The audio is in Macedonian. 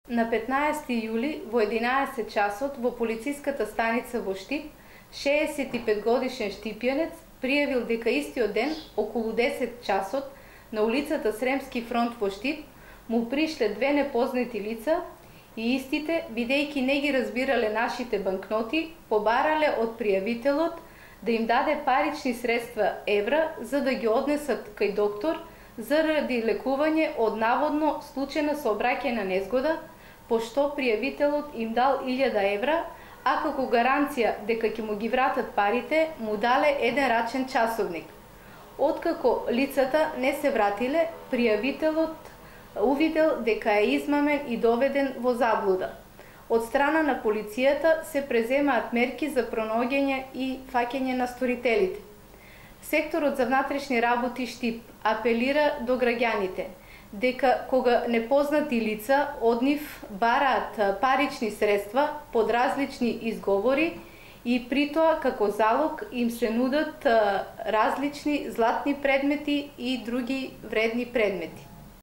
На 15 јули во 11 часот во полициската станица во Штип, 65-годишен штипјанец пријавил дека истиот ден, околу 10 часот, на улицата Сремски фронт во Штип, му пришле две непознати лица и истите, бидејќи не ги разбирале нашите банкноти, побарале од пријавителот да им даде парични средства евра за да ги однесат кај доктор заради лекување од наводно случајна сообраќајна незгода, пошто пријавителот им дал 1000 евра, а како гаранција дека ќе му ги вратат парите, му дале еден рачен часовник. Откако лицата не се вратиле, пријавителот увидел дека е измамен и доведен во заблуда. Од страна на полицијата се преземаат мерки за пронаоѓање и фаќање на сторителите. Секторот за внатрешни работи Штип апелира до граѓаните дека кога непознати лица од нив бараат парични средства под различни изговори и при тоа како залог им се нудат различни златни предмети и други вредни предмети.